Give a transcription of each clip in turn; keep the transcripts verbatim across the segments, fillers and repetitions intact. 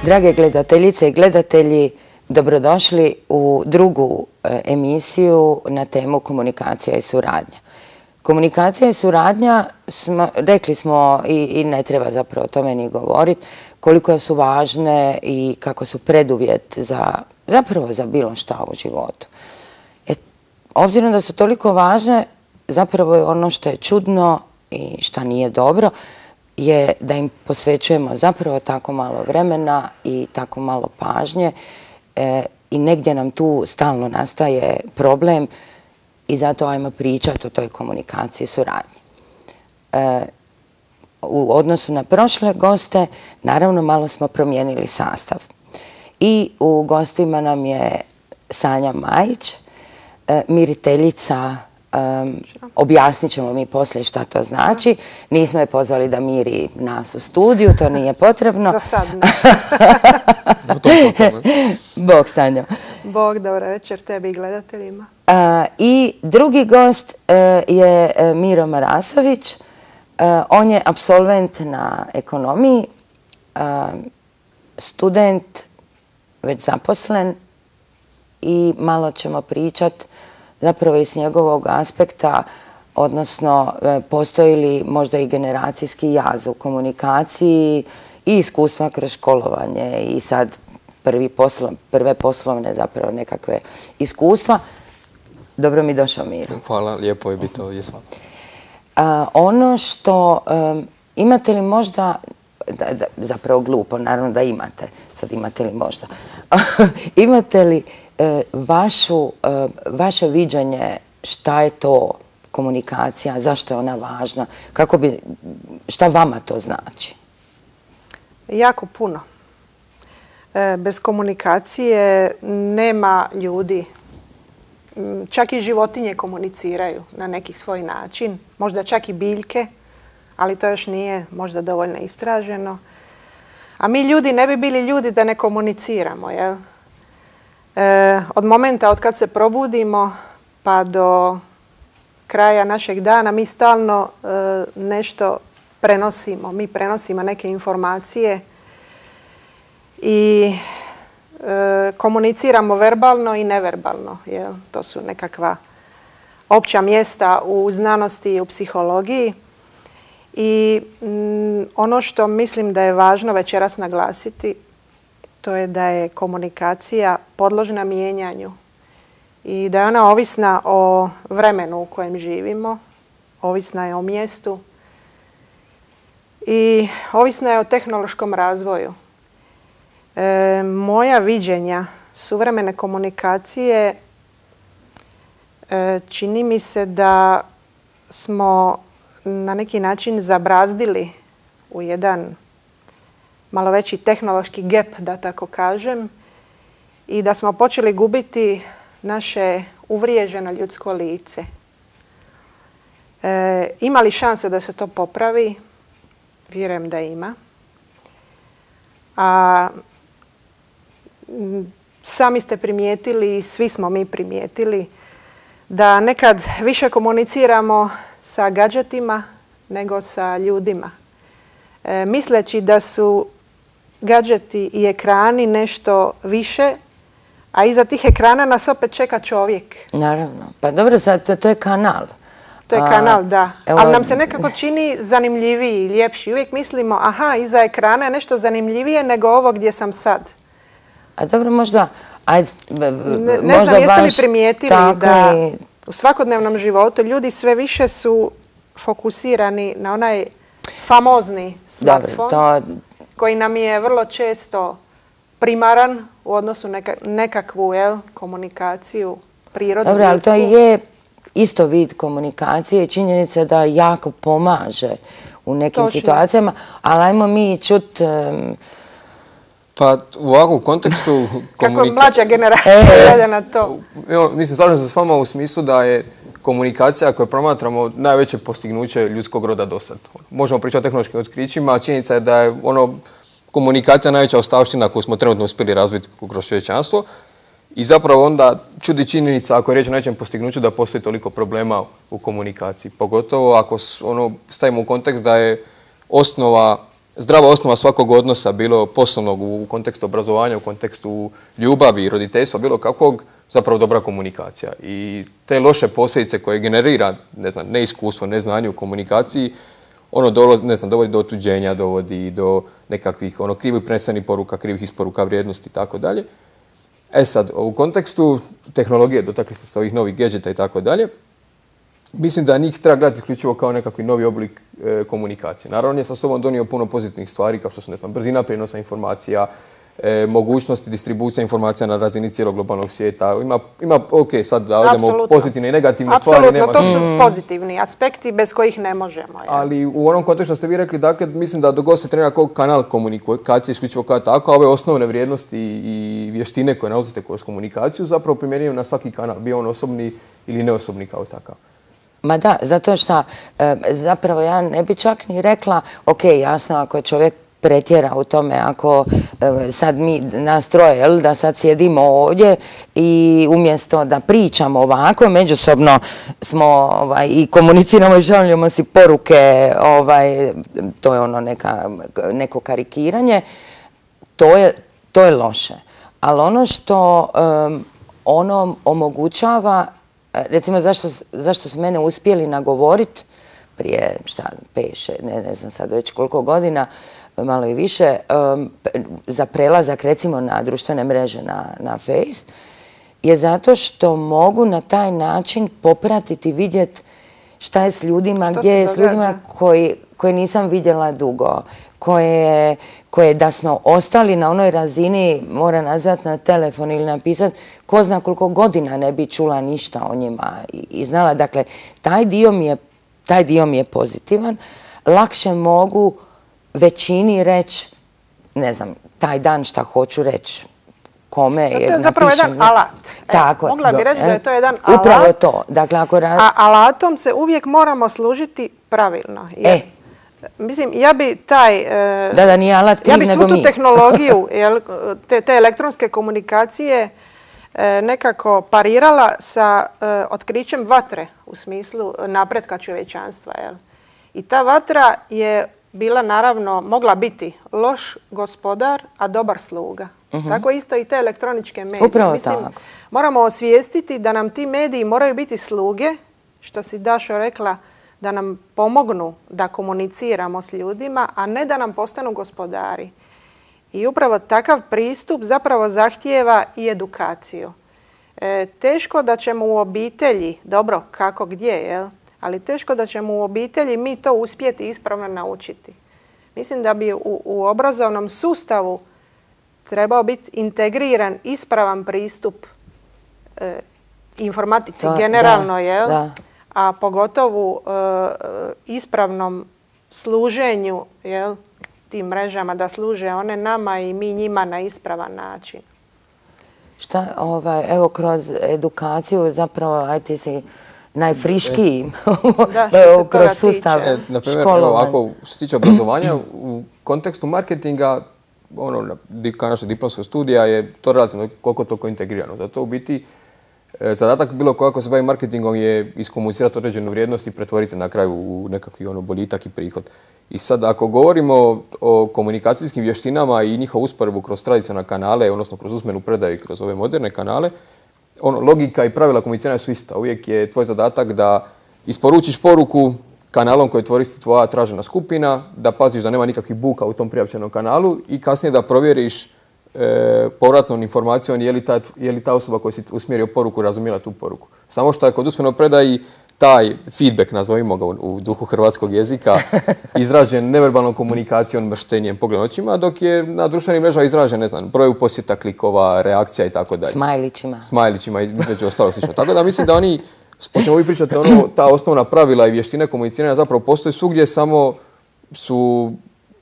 Drage gledateljice i gledatelji, dobrodošli u drugu emisiju na temu komunikacija i suradnja. Komunikacija i suradnja, smo, rekli smo i, i ne treba zapravo o tome ni govoriti, koliko su važne i kako su preduvjet za, zapravo za bilo šta u životu. E, obzirom da su toliko važne, zapravo je ono što je čudno i što nije dobro, je da im posvećujemo zapravo tako malo vremena i tako malo pažnje e, i negdje nam tu stalno nastaje problem i zato ajmo pričati o toj komunikaciji i suradnji. E, u odnosu na prošle goste, naravno malo smo promijenili sastav. I u gostima nam je Sanja Majić, e, miriteljica. Um, objasnit ćemo mi poslije šta to znači. Nismo je pozvali da miri nas u studiju, to nije potrebno. Za sad ne. Bog, Sanjo. Bog, dobro večer tebi i gledateljima. Uh, I drugi gost uh, je uh, Miro Marasović. Uh, on je apsolvent na ekonomiji, uh, student, već zaposlen i malo ćemo pričati zapravo iz njegovog aspekta, odnosno postoji li možda i generacijski jaz u komunikaciji i iskustva kroz školovanje i sad prvi poslo, prve poslovne zapravo nekakve iskustva. Dobro mi došao, Miro. Hvala, lijepo je biti ovdje s vama. Uh, ono što um, imate li možda, da, da, zapravo glupo, naravno da imate, sad imate li možda, imate li Vašu, vaše viđenje šta je to komunikacija, zašto je ona važna, kako bi, šta vama to znači? Jako puno. Bez komunikacije nema ljudi. Čak i životinje komuniciraju na neki svoj način, možda čak i biljke, ali to još nije možda dovoljno istraženo. A mi ljudi ne bi bili ljudi da ne komuniciramo, jel? E, od momenta od kad se probudimo pa do kraja našeg dana mi stalno e, nešto prenosimo. Mi prenosimo neke informacije i e, komuniciramo verbalno i neverbalno. Jel? To su nekakva opća mjesta u znanosti i u psihologiji. I m, ono što mislim da je važno večeras naglasiti, to je da je komunikacija podložna mijenjanju i da je ona ovisna o vremenu u kojem živimo, ovisna je o mjestu i ovisna je o tehnološkom razvoju. E, moja viđenja suvremene komunikacije e, čini mi se da smo na neki način zabrazdili u jedan malo veći tehnološki gap, da tako kažem, i da smo počeli gubiti naše uvriježeno ljudsko lice. E, ima li šanse da se to popravi? Vjerujem da ima. A sami ste primijetili, svi smo mi primijetili, da nekad više komuniciramo sa gadžetima nego sa ljudima. E, misleći da su gadžeti i ekrani nešto više, a iza tih ekrana nas opet čeka čovjek. Naravno. Pa dobro, sad to, to je kanal. To je kanal, da. Evo, ali nam se nekako čini zanimljiviji i ljepši. Uvijek mislimo, aha, iza ekrana je nešto zanimljivije nego ovo gdje sam sad. A dobro, možda, ajde, ne, ne možda znam, jeste li baš primijetili da i u svakodnevnom životu ljudi sve više su fokusirani na onaj famozni smartphone, to koji nam je vrlo često primaran u odnosu na neka, nekakvu jel, komunikaciju prirodnu. Dobro, ali to je isto vid komunikacije i činjenica da jako pomaže u nekim Točno. situacijama, ali ajmo mi čut... Um, Pa u ovakvom kontekstu... Kako mlađa generacija gleda na to? Evo, mislim, slažem se s vama u smislu da je komunikacija koju promatramo najveće postignuće ljudskog roda do sad. Možemo pričati o tehnološkim otkrićima, a činjenica je da je ono, komunikacija najveća ostavština koju smo trenutno uspjeli razviti kroz čovječanstvo. I zapravo onda čudi činjenica, ako je riječ o nećem postignuću, da postoji toliko problema u komunikaciji. Pogotovo ako ono, stavimo u kontekst da je osnova zdrava osnova svakog odnosa, bilo poslovnog u kontekstu obrazovanja, u kontekstu ljubavi, roditeljstva, bilo kakvog, zapravo dobra komunikacija. I te loše posljedice koje generira, ne znam, neiskustvo, neznanje u komunikaciji, ono dolazi, ne znam, dovodi do otuđenja, dovodi do nekakvih ono krivih prenesenih poruka, krivih isporuka vrijednosti i tako dalje. E sad, u kontekstu tehnologije, dotakli ste se ovih novih gadgeta i tako dalje, mislim da njih treba gledati isključivo kao nekakvi novi oblik e, komunikacije. Naravno, on je sa sobom donio puno pozitivnih stvari, kao što su, ne znam, brzina prijenosa informacija, e, mogućnosti distribucija informacija na razini cijelog globalnog svijeta. Ima, ima ok, sad da odemo pozitivne i negativne Apsolutno, stvari. Apsolutno, to su mm. pozitivni aspekti bez kojih ne možemo. Je. Ali u onom kontekstu što ste vi rekli, dakle, mislim da dok god se trenira kao kanal komunikacije isključivo kao tako, a ove osnovne vrijednosti i vještine koje nalazite kroz komunikaciju zapravo primjenjuju na svaki kanal, bio on osobni ili neosobni kao takav. Ma da, zato što e, zapravo ja ne bi čak ni rekla, ok, jasno, ako čovjek pretjera u tome, ako e, sad mi nas troje, jel, da sad sjedimo ovdje i umjesto da pričamo ovako, međusobno smo ovaj, i komuniciramo i šaljemo si poruke, ovaj, to je ono neka, neko karikiranje, to je, to je loše. Ali ono što um, ono omogućava, recimo, zašto, zašto su mene uspjeli nagovoriti prije, šta, pet, ne, ne znam sad već koliko godina, malo i više, um, za prelazak, recimo, na društvene mreže, na, na Face, je zato što mogu na taj način popratiti, vidjeti šta je s ljudima, gdje je s ljudima koji, koje nisam vidjela dugo, koje, koje da smo ostali na onoj razini, mora nazvati na telefon ili napisati, ko zna koliko godina ne bi čula ništa o njima i, i znala. Dakle, taj dio mi je, taj dio mi je pozitivan. Lakše mogu većini reći, ne znam, taj dan šta hoću reći, kome. To je zapravo jedan alat. Tako, mogla bi reći da je to jedan alat. Upravo to. Dakle, ako rad... A alatom se uvijek moramo služiti pravilno. Jer, e. Mislim, ja bi taj... E, da, da, nije alat kriv, ja bi svu tu mi. tehnologiju, jel, te, te elektronske komunikacije e, nekako parirala sa e, otkrićem vatre u smislu napretka čovječanstva. Jel? I ta vatra je bila, naravno, mogla biti loš gospodar, a dobar sluga. Uh-huh. Tako isto i te elektroničke medije. Upravo Mislim, tako. Moramo osvijestiti da nam ti mediji moraju biti sluge, što si Dašo rekla, da nam pomognu da komuniciramo s ljudima, a ne da nam postanu gospodari. I upravo takav pristup zapravo zahtijeva i edukaciju. E, teško da ćemo u obitelji, dobro, kako gdje, jel? Ali teško da ćemo u obitelji mi to uspjeti ispravno naučiti. Mislim da bi u, u obrazovnom sustavu trebao biti integriran, ispravan pristup e, informatici to, generalno, da, jel? Da. A pogotovo e, ispravnom služenju, jel, tim mrežama, da služe one nama i mi njima na ispravan način. Šta, ovaj, evo, kroz edukaciju zapravo, aj ti si najfriškiji da, kroz sustav e, na primjer, evo, ako se tiče obrazovanja, u kontekstu marketinga, ono, kao naša diplomska studija je to relativno koliko toliko integrirano. Zato u biti zadatak bilo ko ako se bavi marketingom je iskomunicirati određenu vrijednost i pretvoriti na kraju u nekakvi ono boljitak i prihod. I sad ako govorimo o komunikacijskim vještinama i njihovu usporedbu kroz tradicionalne kanale, odnosno kroz usmenu predaju i kroz ove moderne kanale, ono, logika i pravila komuniciranja su ista. Uvijek je tvoj zadatak da isporučiš poruku kanalom koji koristi tvoja tražena skupina, da paziš da nema nikakvih buka u tom prijavčenom kanalu i kasnije da provjeriš e, povratnom informacijom je li, ta, je li ta osoba koja si usmjerio poruku razumjela tu poruku. Samo što je kod usmeno predaji taj feedback, nazovimo ga u, u duhu hrvatskog jezika, izražen neverbalnom komunikacijom, mrštenjem, pogledom očima, dok je na društvenim mrežama izražen, ne znam, broju posjeta, klikova, reakcija i tako dalje. Smajlićima. Smajlićima i među ostalo slično. Tako da mislim da oni, o čemu vi pričate, ono, ta osnovna pravila i vještine komuniciranja zapravo postoje svugdje, samo su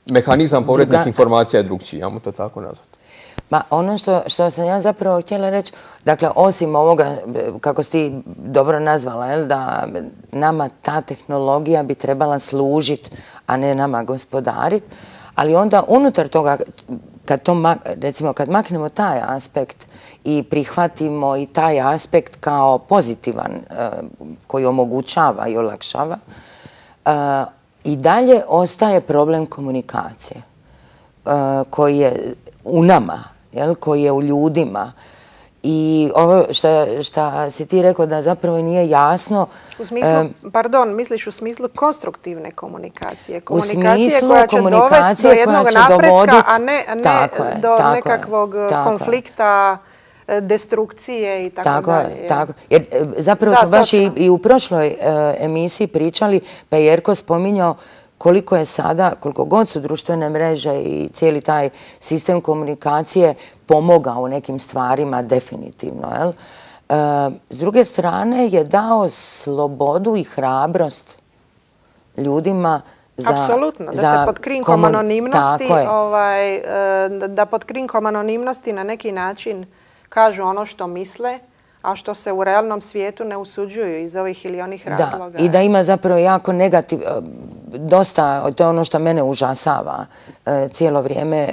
mehanizam povratnih Druga... informacija je drugčiji, ajmo to tako nazvati. Ma ono što, što sam ja zapravo htjela reći, dakle, osim ovoga, kako si ti dobro nazvala, jel, da nama ta tehnologija bi trebala služiti, a ne nama gospodariti, ali onda unutar toga, kad to, recimo, kad maknemo taj aspekt i prihvatimo i taj aspekt kao pozitivan, koji omogućava i olakšava, i dalje ostaje problem komunikacije uh, koji je u nama, jel, koji je u ljudima. I ovo što si ti rekao da zapravo nije jasno... U smislu, um, pardon, misliš u smislu konstruktivne komunikacije? Komunikacije koja će dovesti do jednog napretka, dovodit, a ne, a ne je, do nekakvog je, konflikta, je. destrukcije i tako, tako dalje. Je, tako. Jer zapravo da, smo baš i, i u prošloj uh, emisiji pričali, pa je Jerko spominjao koliko je sada, koliko god su društvene mreže i cijeli taj sistem komunikacije pomogao u nekim stvarima definitivno. Jel? E, s druge strane je dao slobodu i hrabrost ljudima za... Apsolutno, da se pod krinkom komun... anonimnosti, ovaj, da pod krinkom anonimnosti na neki način kažu ono što misle, a što se u realnom svijetu ne usuđuju iz ovih ili onih razloga. Da, i da ima zapravo jako negativ, dosta, to je ono što mene užasava e, cijelo vrijeme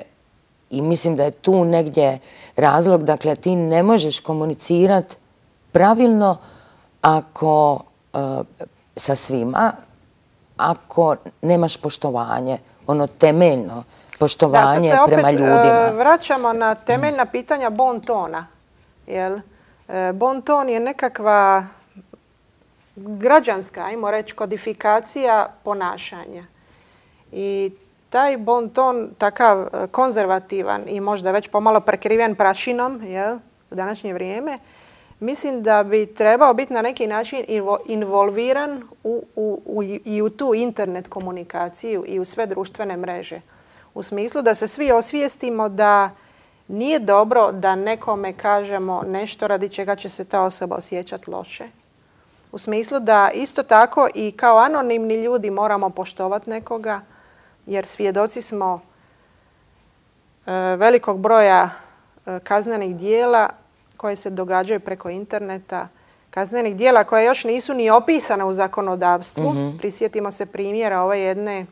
i mislim da je tu negdje razlog, dakle ti ne možeš komunicirati pravilno ako e, sa svima, ako nemaš poštovanje, ono temeljno poštovanje da, sad se prema opet, ljudima. E, vraćamo na temeljna pitanja bon tona, jel? Bon ton je nekakva građanska, ajmo reći, kodifikacija ponašanja. I taj bon ton, takav konzervativan i možda već pomalo prekriven prašinom, jel, u današnje vrijeme, mislim da bi trebao biti na neki način involviran u, u, u, i u tu internet komunikaciju i u sve društvene mreže. U smislu da se svi osvijestimo da nije dobro da nekome kažemo nešto radi čega će se ta osoba osjećati loše. U smislu da isto tako i kao anonimni ljudi moramo poštovati nekoga, jer svjedoci smo e, velikog broja e, kaznenih dijela koje se događaju preko interneta, kaznenih dijela koje još nisu ni opisane u zakonodavstvu. Mm-hmm. Prisjetimo se primjera ove jedne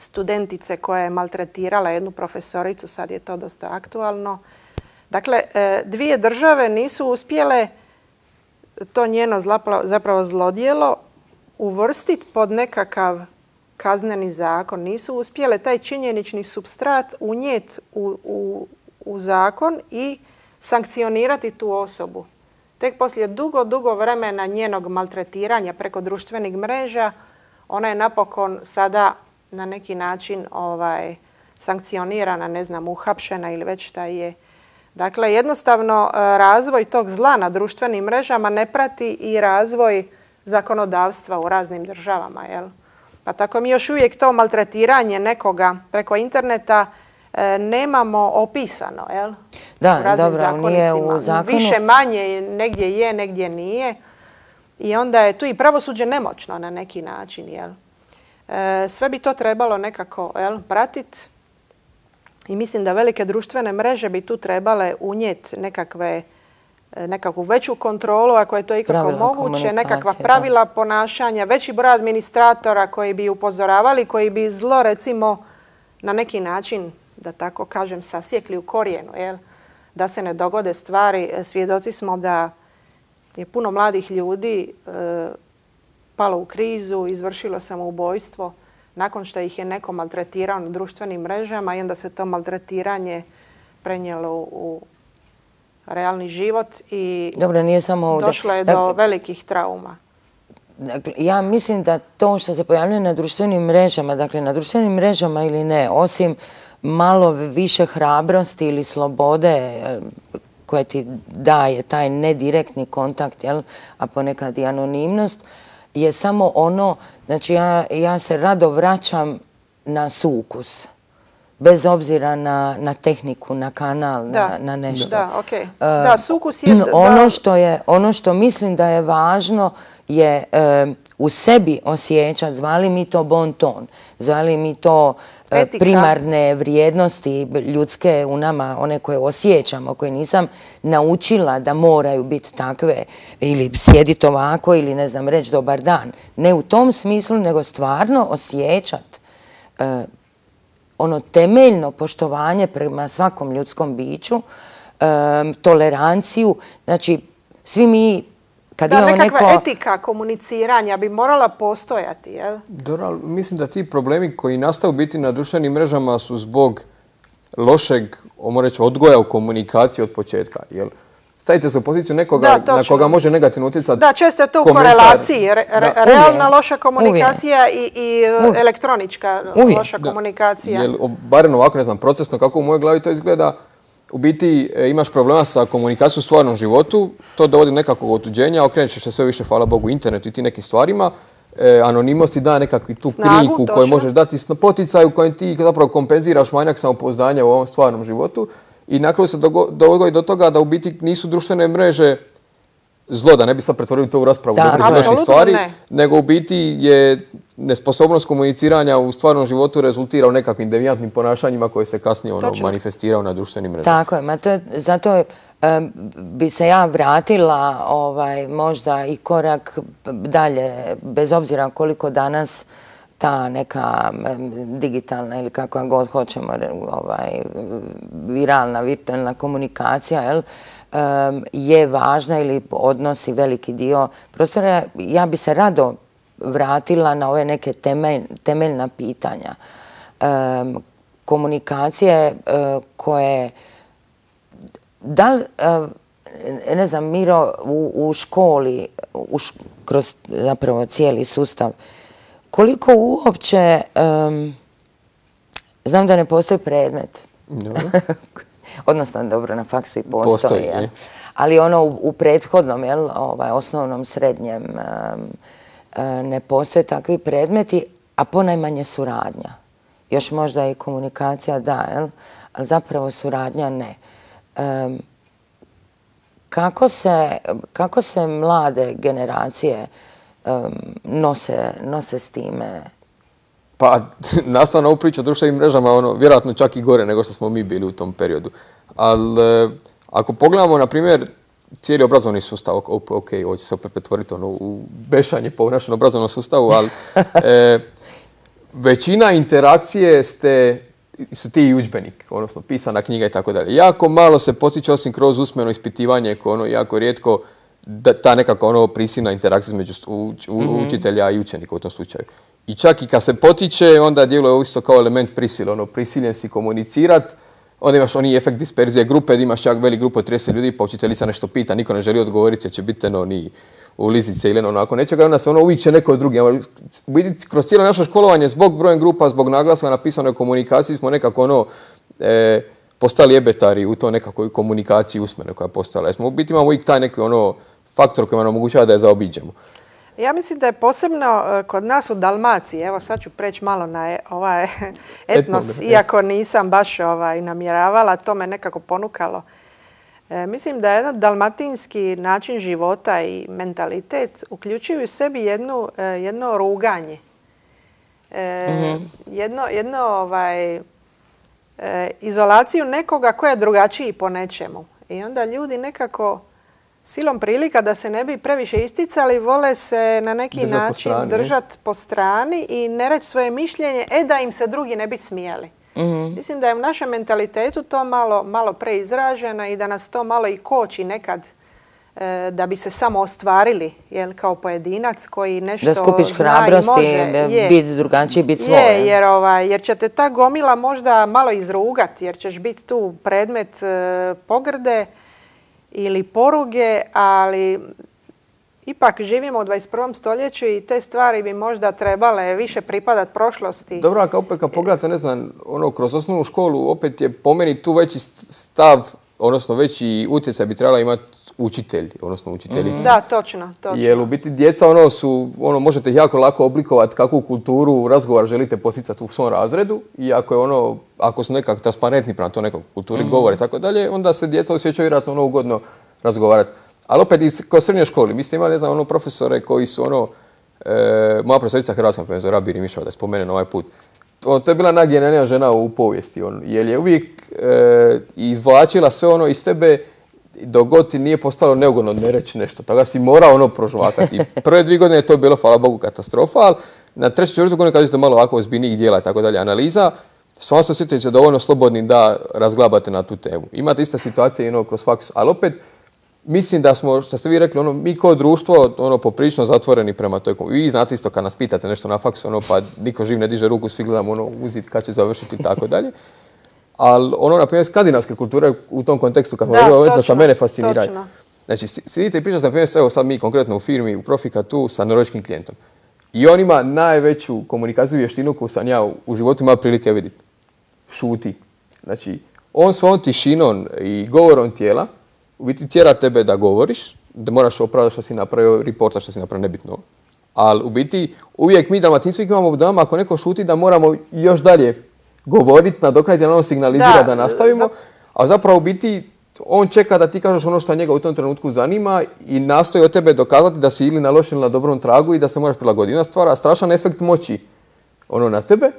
studentice koja je maltretirala jednu profesoricu, sad je to dosta aktualno. Dakle, dvije države nisu uspjele to njeno zapravo zlodjelo uvrstiti pod nekakav kazneni zakon. Nisu uspjele taj činjenični supstrat unijeti u, u, u zakon i sankcionirati tu osobu. Tek poslije dugo, dugo vremena njenog maltretiranja preko društvenih mreža, ona je napokon sada na neki način ovaj, sankcionirana, ne znam, uhapšena ili već šta je. Dakle, jednostavno razvoj tog zla na društvenim mrežama ne prati i razvoj zakonodavstva u raznim državama. Jel? Pa tako mi još uvijek to maltretiranje nekoga preko interneta e, nemamo opisano. Jel? Da, u raznim dobro, zakonicima. nije u zakonu. Više manje, negdje je, negdje nije. I onda je tu i pravosuđe nemoćno na neki način. Jel? Sve bi to trebalo nekako pratiti i mislim da velike društvene mreže bi tu trebale unijeti nekakve, nekakvu veću kontrolu, ako je to ikako pravila moguće, nekakva pravila da. ponašanja, veći broj administratora koji bi upozoravali, koji bi zlo recimo na neki način, da tako kažem, sasjekli u korijenu, jel? Da se ne dogode stvari. Svjedoci smo da je puno mladih ljudi e, palo u krizu, izvršilo samoubojstvo nakon što ih je neko maltretirao na društvenim mrežama i onda se to maltretiranje prenijelo u realni život i Dobro, nije samo ovdje. Došlo je dakle, do velikih trauma. Dakle, ja mislim da to što se pojavljuje na društvenim mrežama, dakle na društvenim mrežama ili ne, osim malo više hrabrosti ili slobode koje ti daje taj nedirektni kontakt, jel, a ponekad i anonimnost, je samo ono, znači ja, ja se rado vraćam na sukus, bez obzira na, na tehniku, na kanal, da. na, na nešto. Da, okay. uh, da, sukus je... Ono što, je, ono što mislim da je važno je uh, u sebi osjećati, zvali mi to bon ton, zvali mi to uh, primarne vrijednosti ljudske u nama, one koje osjećamo, koje nisam naučila da moraju biti takve, ili sjediti ovako, ili ne znam, reći dobar dan. Ne u tom smislu, nego stvarno osjećati uh, ono temeljno poštovanje prema svakom ljudskom biću, um, toleranciju. Znači, svi mi Kad da, imamo nekakva neko... etika komuniciranja bi morala postojati, jel? Dobro, ali mislim da ti problemi koji nastaju biti na društvenim mrežama su zbog lošeg, ajmo reći, odgoja u komunikaciji od početka. Jel? Stavite se u poziciju nekoga Da, na koga može negativno utjecati. Da, često je to u komentar. korelaciji. Re, re, Da. realna Uvijek. loša komunikacija i, i elektronička Uvijek. loša Da. komunikacija. Jel, o- barem ovako, ne znam, procesno kako u mojoj glavi to izgleda, u biti e, imaš problema sa komunikacijom u stvarnom životu, to dovodi do nekakvog otuđenja, okreneš se sve više, hvala Bogu, internetu i ti nekim stvarima. E, anonimnost ti da nekakvu tu Snagu, krinku koju točno. možeš dati s poticaj u kojem ti zapravo kompenziraš manjak samopouzdanja u ovom stvarnom životu. I na kraju se dogo- dogodi do toga da u biti nisu društvene mreže zlo, da ne bi sad pretvorili to u raspravu Da, dobrih i loših apsolutno stvari, ne. nego u biti je nesposobnost komuniciranja u stvarnom životu rezultira u nekakvim devijantnim ponašanjima koje se kasnije ono, Točno. manifestiraju na društvenim mrežama. Tako je, ma to je, zato em, bi se ja vratila ovaj, možda i korak dalje, bez obzira koliko danas ta neka em, digitalna ili kako god hoćemo, ovaj, viralna, virtualna komunikacija, jel, em, je važna ili odnosi veliki dio prostora. Ja bi se rado vratila na ove neke temelj, temeljna pitanja. Em, komunikacije e, koje da li, e, ne znam, Miro, u, u školi, u š- kroz zapravo cijeli sustav, koliko uopće, em, znam da ne postoji predmet, Dobro. odnosno dobro na faksu i postoji, Postoji, jel? je. Ali ono u, u prethodnom, jel, ovaj, osnovnom, srednjem, em, e, ne postoje takvi predmeti, a ponajmanje suradnja. Još možda i komunikacija da, jel? Ali zapravo suradnja ne. Em, kako se, kako se mlade generacije em, nose, nose s time? Pa, nastavno ovu priču o društvenim mrežama, ono, vjerojatno čak i gore nego što smo mi bili u tom periodu. Ali, e, ako pogledamo, na primjer, cijeli obrazovni sustav, ok, ok, ovo će se opet pretvoriti ono, u bešanje po našem obrazovnom sustavu, ali e, većina interakcije ste, su ti i udžbenik, odnosno pisana knjiga i tako dalje. Jako malo se potiče, osim kroz usmeno ispitivanje, koje ono jako rijetko, da, ta nekako ono prisilna interakcija između uč, u, učitelja i učenika u tom slučaju. I čak i kad se potiče, onda djeluje isto kao element prisile, ono prisiljen si komunicirat, onda imaš oni efekt disperzije grupe, da imaš čak velik grupu od trideset ljudi, pa učiteljica nešto pita, niko ne želi odgovoriti jer će biti ono, ni u lizice ili onako nečega, onda se ono uvijek će neko drugi. U biti, kroz cijelo naše školovanje, zbog brojem grupa, zbog naglaska na pisanoj komunikaciji, smo nekako ono, e, postali ebetari u toj nekakvoj komunikaciji usmene koja je postala. Jer smo u biti imamo uvijek taj neki ono faktor koji nam omogućava da je zaobiđemo. Ja mislim da je posebno e, kod nas u Dalmaciji, evo sad ću preći malo na e- ovaj etnos, Etno, iako nisam baš ovaj, namjeravala, to me nekako ponukalo. E, mislim da je jedan dalmatinski način života i mentalitet uključuju u sebi jednu, e, jedno ruganje. E, Mhm. Jedno, jedno ovaj, e, izolaciju nekoga ko je drugačiji po nečemu. I onda ljudi nekako silom prilika da se ne bi previše isticali, vole se na neki Držat po način strani, ne? držati po strani i ne reći svoje mišljenje, e da im se drugi ne bi smijeli. Mislim da je u našem mentalitetu to malo, malo preizraženo i da nas to malo i koči nekad e, da bi se samo ostvarili, jel, kao pojedinac koji nešto Da skupiš zna i hrabrosti, može. Je. biti drugačiji, biti svoj. Je, jer, ovaj, jer će te ta gomila možda malo izrugati, jer ćeš biti tu predmet e, pogrde ili poruge, ali ipak živimo u dvadeset prvom stoljeću i te stvari bi možda trebale više pripadati prošlosti. Dobro, a opet kad pogledate, ne znam, ono, kroz osnovnu školu, opet je po meni tu veći stav, odnosno veći utjecaj bi trebala imati učitelj, odnosno učiteljica. Da, točno, točno. Jer u biti djeca ono su, ono, možete ih jako lako oblikovati kakvu kulturu razgovor želite poticati u svom razredu i ako je ono, ako su nekako transparentni prema to nekoj kulturi govore i tako dalje, onda se djeca osjećaju vjerojatno ono ugodno razgovarati. Ali opet i kroz srednje školi, mi ste imali, ne znam, ono profesore koji su ono, e, moja profesorica hrvatska, profesor Rabir Mišova, da spomenem ovaj put, to, to je bila najgenijalnija žena u povijesti, on, jer je uvijek e, izvlačila sve ono iz tebe dok god ti nije postalo neugodno ne reći nešto. Toga si morao ono prožvakati. Prve dvije godine je to bilo, hvala Bogu, katastrofa, ali na trećoj četvrtoj godini kad ste malo ovako ozbiljnijih dijela i tako dalje analiza, stvarno se osjećate se dovoljno slobodni da razglabate na tu temu. Imate iste situacije i ono kroz faks, ali opet mislim da smo, što ste vi rekli, ono, mi kao društvo ono, poprilično zatvoreni prema toj komunikaciji. Vi znate isto kad nas pitate nešto na faksu, ono, pa niko živ ne diže ruku, svi gledamo ono, uzit kad će završiti i tako dalje. Ali ono, na primjer, skandinavske kulture u tom kontekstu, kad smo rekli, što mene fasciniraju. Znači, sidite i pričate, na primjer, evo sad mi konkretno u firmi, u Profika tu, sa norveškim klijentom. I on ima najveću komunikaciju vještinu koju sam ja u životu imao prilike vidjeti. Šuti. Znači, on svojom tišinom i govorom tijela u biti tjera tebe da govoriš, da moraš opravdati što si napravio, reporta što si napravio, nebitno. Ali u biti uvijek mi Dalmatinci imamo doma, ako neko šuti, da moramo još dalje govoriti, nadoknaditi, da ono signalizira da, da nastavimo. Za... A zapravo u biti on čeka da ti kažeš ono što njega u tom trenutku zanima i nastoji od tebe dokazati da si ili na lošem ili na dobrom tragu i da se moraš prilagoditi. Ona stvara strašan efekt moći ono na tebe,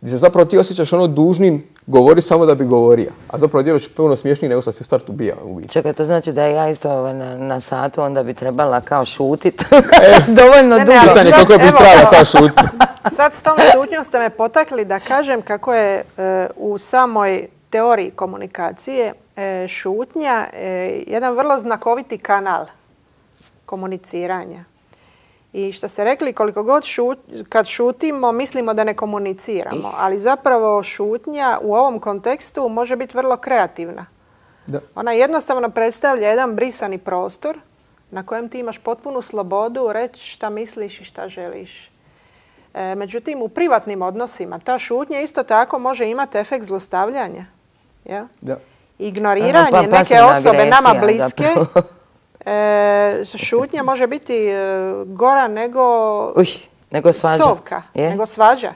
gdje se zapravo ti osjećaš ono dužnim govori samo da bi govorio. A zapravo djelaš puno smiješniji nego što si u startu bija. Čekaj, to znači da ja isto na, na satu onda bi trebala kao šutit. E, dovoljno ne, dugo. Ne, pitanje koliko bi trebala ta šutnja. Sad s tom šutnjom ste me potakli da kažem kako je e, u samoj teoriji komunikacije e, šutnja e, jedan vrlo znakoviti kanal komuniciranja. I što ste rekli, koliko god šut, kad šutimo, mislimo da ne komuniciramo, ali zapravo šutnja u ovom kontekstu može biti vrlo kreativna. Da. Ona jednostavno predstavlja jedan brisani prostor na kojem ti imaš potpunu slobodu reći šta misliš i šta želiš. E, međutim, u privatnim odnosima ta šutnja isto tako može imati efekt zlostavljanja. Ja? Da. Ignoriranje pa, pa, neke osobe nama bliske. E, šutnja može biti e, gora nego, Uj, nego svađa. Psovka, je? nego svađa.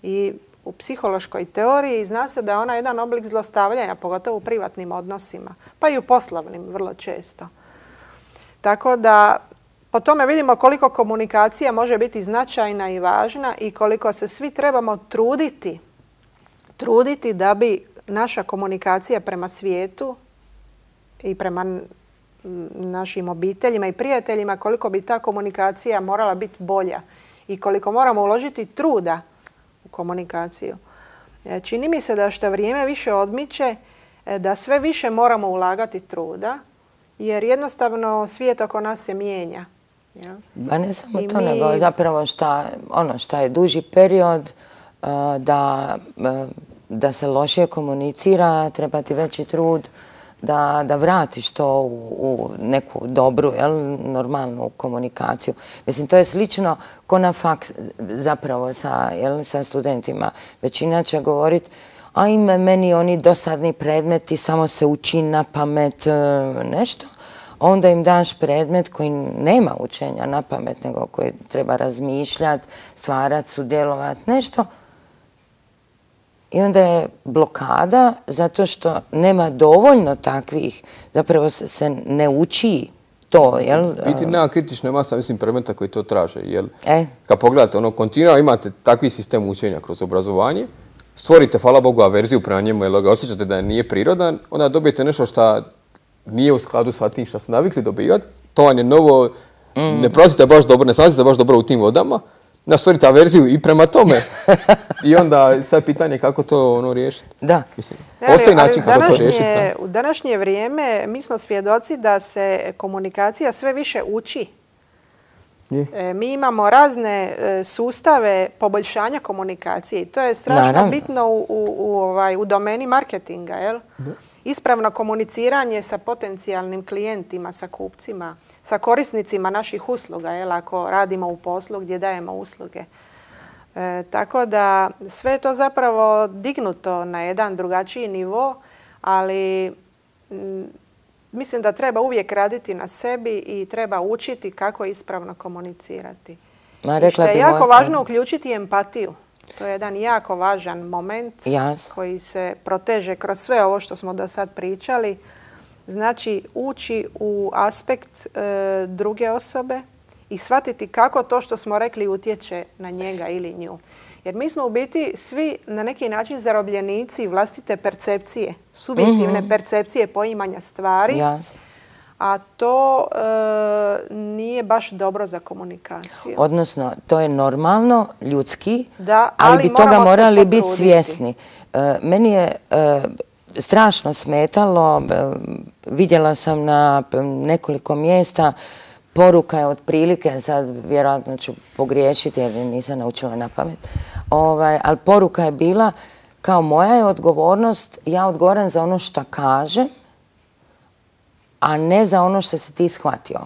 I u psihološkoj teoriji zna se da je ona jedan oblik zlostavljanja, pogotovo u privatnim odnosima, pa i u poslovnim vrlo često. Tako da po tome vidimo koliko komunikacija može biti značajna i važna i koliko se svi trebamo truditi, truditi da bi naša komunikacija prema svijetu i prema našim obiteljima i prijateljima, koliko bi ta komunikacija morala biti bolja i koliko moramo uložiti truda u komunikaciju. Čini mi se da što vrijeme više odmiče, da sve više moramo ulagati truda, jer jednostavno svijet oko nas se mijenja. Ja? Pa ne samo I to, mi... nego zapravo šta, ono šta je duži period da, da se lošije komunicira, treba ti veći trud Da, da vratiš to u, u neku dobru, jel, normalnu komunikaciju. Mislim, to je slično ko na faks zapravo sa, jel, sa studentima. Većina će govoriti, ajme, meni oni dosadni predmeti, samo se uči na pamet nešto. Onda im daš predmet koji nema učenja na pamet, nego koji treba razmišljati, stvarati, sudjelovati, nešto. I onda je blokada zato što nema dovoljno takvih, zapravo se ne uči to, jel? Biti nema kritična masa, mislim, predmeta koji to traže, jel? E? Kad pogledate, ono, kontinuirano imate takvi sistem učenja kroz obrazovanje, stvorite, hvala Bogu, averziju prema njemu, jer ga osjećate da nije prirodan, onda dobijete nešto što nije u skladu sa tim što ste navikli dobivati, to vam je novo, mm. ne prolazite baš dobro, ne snalazite baš dobro u tim vodama, da stvorite averziju i prema tome. I onda sad pitanje kako to ono riješiti. Da. Mislim, postoji način kako to riješiti. U današnje vrijeme mi smo svjedoci da se komunikacija sve više uči. E, mi imamo razne e, sustave poboljšanja komunikacije i to je strašno Naravno. bitno u, u, u, ovaj, u domeni marketinga. Jel? Ispravno komuniciranje sa potencijalnim klijentima, sa kupcima, sa korisnicima naših usluga, jel, ako radimo u poslu gdje dajemo usluge. E, tako da sve je to zapravo dignuto na jedan drugačiji nivo, ali m, mislim da treba uvijek raditi na sebi i treba učiti kako ispravno komunicirati. Ma, rekla I što je jako moj... važno uključiti empatiju. To je jedan jako važan moment yes. koji se proteže kroz sve ovo što smo do sad pričali. Znači, ući u aspekt e, druge osobe i shvatiti kako to što smo rekli utječe na njega ili nju. Jer mi smo u biti svi na neki način zarobljenici vlastite percepcije, subjektivne mm-hmm. percepcije poimanja stvari, yes. a to e, nije baš dobro za komunikaciju. Odnosno, to je normalno, ljudski, da, ali, ali bi toga morali biti svjesni. E, meni je... E, strašno smetalo. Vidjela sam na nekoliko mjesta, poruka je otprilike, sad vjerojatno ću pogriješiti jer nisam naučila na pamet, ovaj, ali poruka je bila kao moja je odgovornost, ja odgovoram za ono što kažem, a ne za ono što si ti shvatio.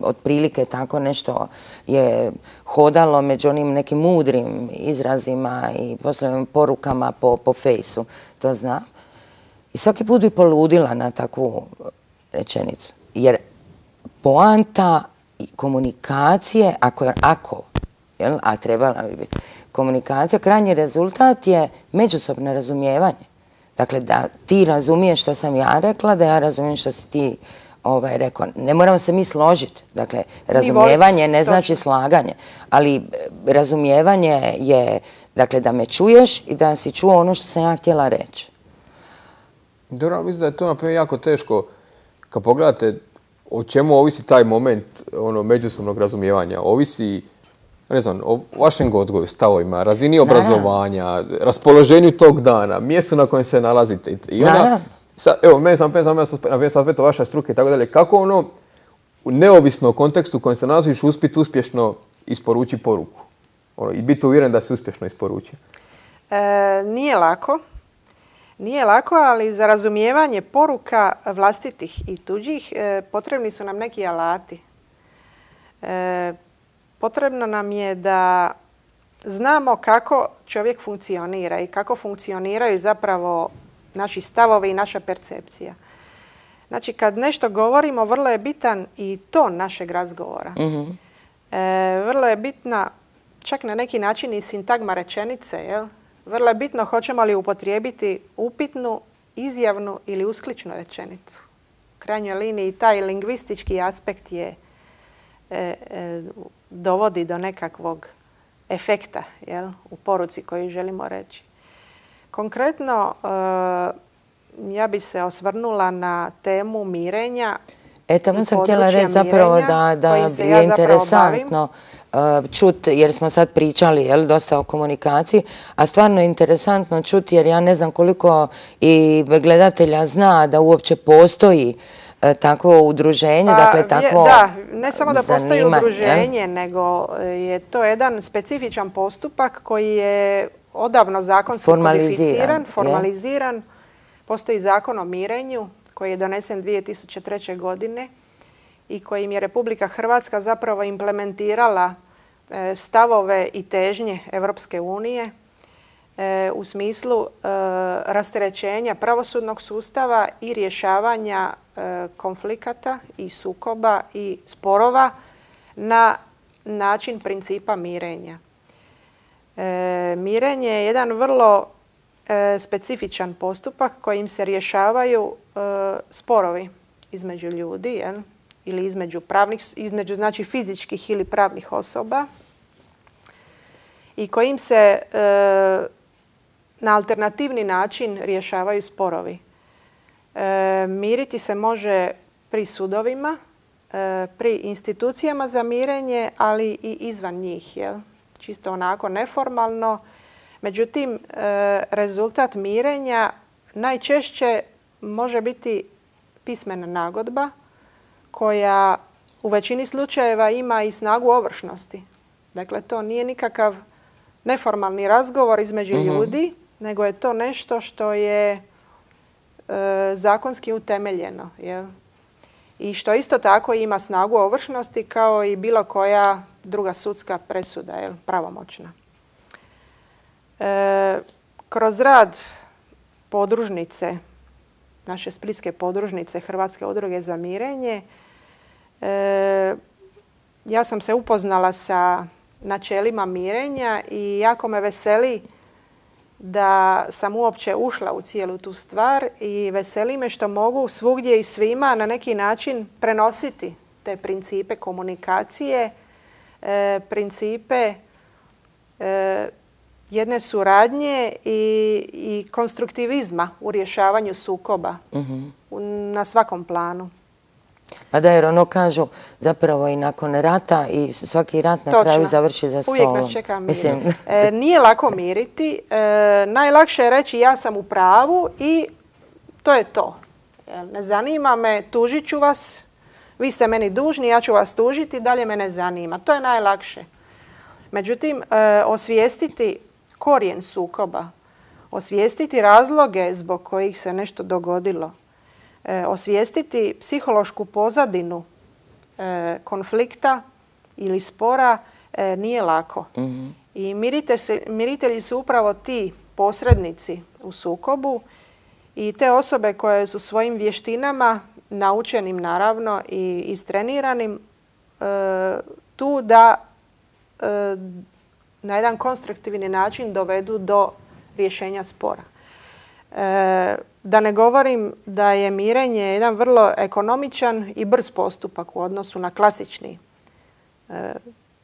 Otprilike tako nešto je hodalo među onim nekim mudrim izrazima i poslovnim porukama po, po fejsu, to znam. I svaki put bi poludila na takvu rečenicu. Jer poanta komunikacije, ako, ako jel, a trebala bi biti komunikacija, krajnji rezultat je međusobno razumijevanje. Dakle, da ti razumiješ što sam ja rekla, da ja razumijem što si ti ovaj, rekao. Ne moramo se mi složiti. Dakle, razumijevanje ne znači slaganje, ali razumijevanje je, dakle, da me čuješ i da si čuo ono što sam ja htjela reći. Dobro, mislim da je to naprimjer jako teško kad pogledate o čemu ovisi taj moment ono, međusobnog razumijevanja. Ovisi, ne znam, o vašem odgoju, stavovima, razini obrazovanja, raspoloženju tog dana, mjestu na kojem se nalazite. I onda, sad, evo, meni sam na aspektu vaša struke i tako dalje, kako ono, u neovisno kontekstu u kojem se nalaziš, uspjeti uspješno isporuči poruku? Ono, i biti uvjeren da se uspješno isporuči? E, nije lako. Nije lako, ali za razumijevanje poruka vlastitih i tuđih e, potrebni su nam neki alati. E, potrebno nam je da znamo kako čovjek funkcionira i kako funkcioniraju zapravo naši stavovi i naša percepcija. Znači, kad nešto govorimo, vrlo je bitan i ton našeg razgovora. Mm-hmm. e, vrlo je bitna čak na neki način i sintagma rečenice, jel? Vrlo je bitno hoćemo li upotrijebiti upitnu, izjavnu ili uskličnu rečenicu. U krajnjoj liniji taj lingvistički aspekt je, e, e, dovodi do nekakvog efekta, jel, u poruci koju želimo reći. Konkretno, e, ja bi se osvrnula na temu mirenja. E, tamo sam htjela reći zapravo da, da je ja interesantno čuti, jer smo sad pričali jel, dosta o komunikaciji, a stvarno je interesantno čuti jer ja ne znam koliko i gledatelja zna da uopće postoji e, takvo udruženje, pa, dakle takvo Da, ne samo da postoji zanima, udruženje, jel? Nego je to jedan specifičan postupak koji je odavno zakonski kodificiran, formaliziran. Je? Postoji zakon o mirenju koji je donesen dvije tisuće treće. godine i kojim je Republika Hrvatska zapravo implementirala e, stavove i težnje Europske unije e, u smislu e, rasterećenja pravosudnog sustava i rješavanja e, konflikata i sukoba i sporova na način principa mirenja. E, mirenje je jedan vrlo e, specifičan postupak kojim se rješavaju e, sporovi između ljudi, jel? Ili između pravnih, između znači fizičkih ili pravnih osoba i kojim se e, na alternativni način rješavaju sporovi. E, miriti se može pri sudovima, e, pri institucijama za mirenje, ali i izvan njih, jel? Čisto onako neformalno. Međutim, e, rezultat mirenja najčešće može biti pismena nagodba koja u većini slučajeva ima i snagu ovršnosti. Dakle, to nije nikakav neformalni razgovor između mm-hmm. ljudi, nego je to nešto što je e, zakonski utemeljeno. Jel? I što isto tako ima snagu ovršnosti kao i bilo koja druga sudska presuda, jel? Pravomoćna. E, kroz rad podružnice, naše splitske podružnice Hrvatske udruge za mirenje, e, ja sam se upoznala sa načelima mirenja i jako me veseli da sam uopće ušla u cijelu tu stvar i veseli me što mogu svugdje i svima na neki način prenositi te principe komunikacije, e, principe e, jedne suradnje i, i konstruktivizma u rješavanju sukoba mm-hmm. na svakom planu. Pa da, jer ono kažu zapravo i nakon rata i svaki rat na Točno. kraju završi za stolom. Uvijek nas čeka mir. E, nije lako miriti. E, najlakše je reći ja sam u pravu i to je to. Ne zanima me, tužit ću vas, vi ste meni dužni, ja ću vas tužiti, dalje me ne zanima. To je najlakše. Međutim, osvijestiti korijen sukoba, osvijestiti razloge zbog kojih se nešto dogodilo, osvijestiti psihološku pozadinu konflikta ili spora nije lako. Mm-hmm. I miritelji su upravo ti posrednici u sukobu i te osobe koje su svojim vještinama, naučenim naravno i istreniranim, tu da na jedan konstruktivni način dovedu do rješenja spora. Da ne govorim da je mirenje jedan vrlo ekonomičan i brz postupak u odnosu na klasični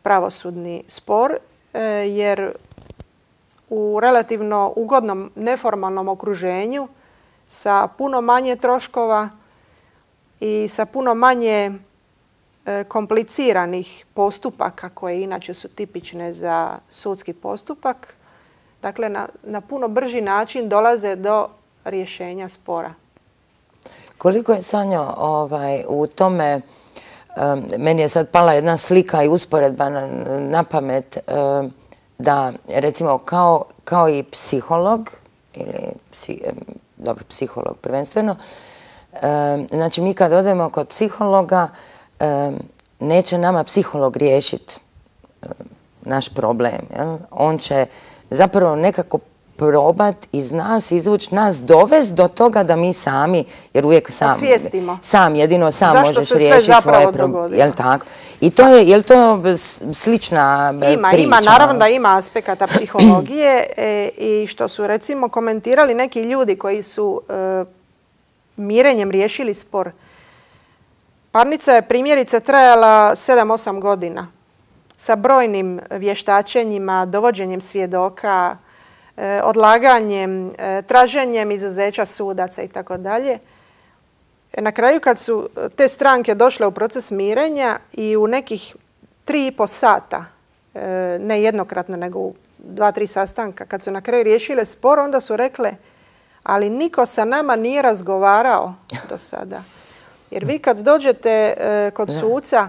pravosudni spor, jer u relativno ugodnom neformalnom okruženju sa puno manje troškova i sa puno manje kompliciranih postupaka koje inače su tipične za sudski postupak, dakle na, na puno brži način dolaze do rješenja spora. Koliko je, Sanjo, ovaj, u tome, um, meni je sad pala jedna slika i usporedba na, na pamet, um, da recimo kao, kao i psiholog, ili psi, dobro, psiholog prvenstveno, um, znači mi kad odemo kod psihologa, um, neće nama psiholog riješiti um, naš problem. Jel? On će zapravo nekako probat iz nas, izvući nas, dovesti do toga da mi sami, jer uvijek sam, osvijestimo. Sam, jedino sam zašto možeš se riješiti svoje probleme. Jel tako? I to je, je li to slična ima, priča? Ima, naravno da ima aspekata psihologije e, i što su recimo komentirali neki ljudi koji su e, mirenjem riješili spor. Parnica je primjerice trajala sedam osam godina sa brojnim vještačenjima, dovođenjem svjedoka, odlaganjem, traženjem izuzeća sudaca i tako dalje. Na kraju kad su te stranke došle u proces mirenja i u nekih tri i po sata, ne jednokratno nego u dva, tri sastanka, kad su na kraju riješile spor, onda su rekle, ali niko sa nama nije razgovarao do sada. Jer vi kad dođete kod suca,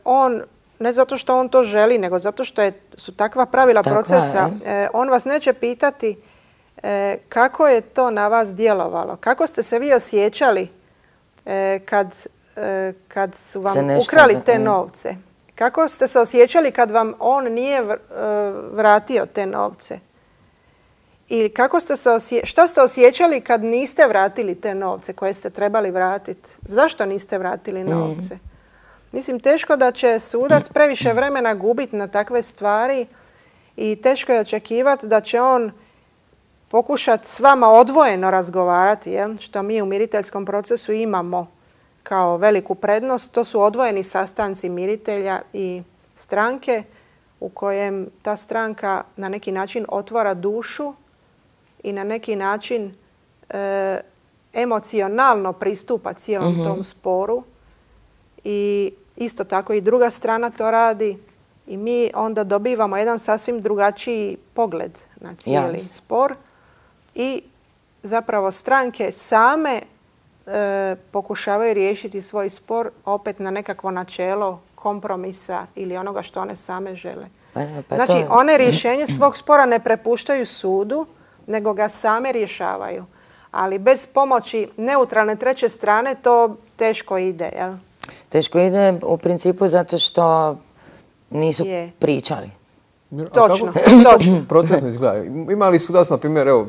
on ne zato što on to želi, nego zato što je, su takva pravila Takva, procesa. E, on vas neće pitati e, kako je to na vas djelovalo. Kako ste se vi osjećali e, kad, e, kad su vam ukrali te novce. Kako ste se osjećali kad vam on nije vratio te novce. I kako ste se osje... šta ste osjećali kad niste vratili te novce koje ste trebali vratiti. Zašto niste vratili novce? Mm. Mislim, teško da će sudac previše vremena gubiti na takve stvari i teško je očekivati da će on pokušati s vama odvojeno razgovarati, jel? Što mi u miriteljskom procesu imamo kao veliku prednost. To su odvojeni sastanci miritelja i stranke u kojem ta stranka na neki način otvara dušu i na neki način e, emocionalno pristupa cijelom mm-hmm. tom sporu. I isto tako i druga strana to radi i mi onda dobivamo jedan sasvim drugačiji pogled na cijeli yes. spor i zapravo stranke same e, pokušavaju riješiti svoj spor opet na nekakvo načelo kompromisa ili onoga što one same žele. Pa, pa znači, to... one rješenje svog spora ne prepuštaju sudu, nego ga same rješavaju. Ali bez pomoći neutralne treće strane to teško ide, jel? Teško ide u principu zato što nisu je. pričali. Točno, točno. Procesno izgleda. Ima li sudac, na primjer, evo,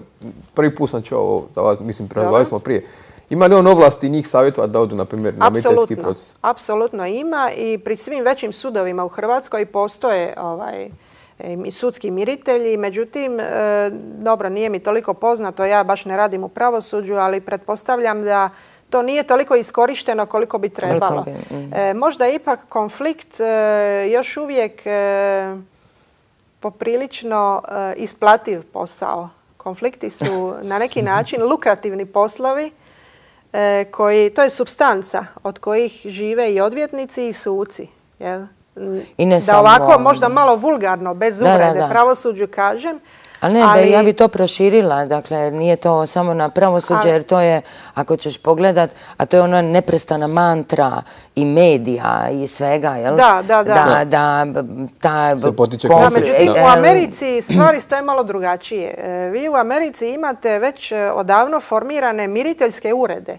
prvi put sam čuo ovo za vas, mislim, razgovarali smo prije. Ima li on ovlasti njih savjetovati da odu, na primjer, na miriteljski proces? Apsolutno ima i pri svim većim sudovima u Hrvatskoj postoje ovaj, sudski miritelji. Međutim, e, dobro, nije mi toliko poznato, ja baš ne radim u pravosuđu, ali pretpostavljam da to nije toliko iskorišteno koliko bi trebalo. E, možda je ipak konflikt e, još uvijek e, poprilično e, isplativ posao. Konflikti su na neki način lukrativni poslovi e, koji, to je supstanca od kojih žive i odvjetnici i suci. Jel? I ne da samo... ovako možda malo vulgarno, bez uvrede, pravosuđu kažem, Ali ne, ali... ja bi to proširila, dakle, nije to samo na pravosuđe, ali... jer to je, ako ćeš pogledat, a to je ona neprestana mantra i medija i svega, jel? Da, da, da. Da, da, ta... Se potiče da, međutim, u Americi stvari stoje malo drugačije. Vi u Americi imate već odavno formirane miriteljske urede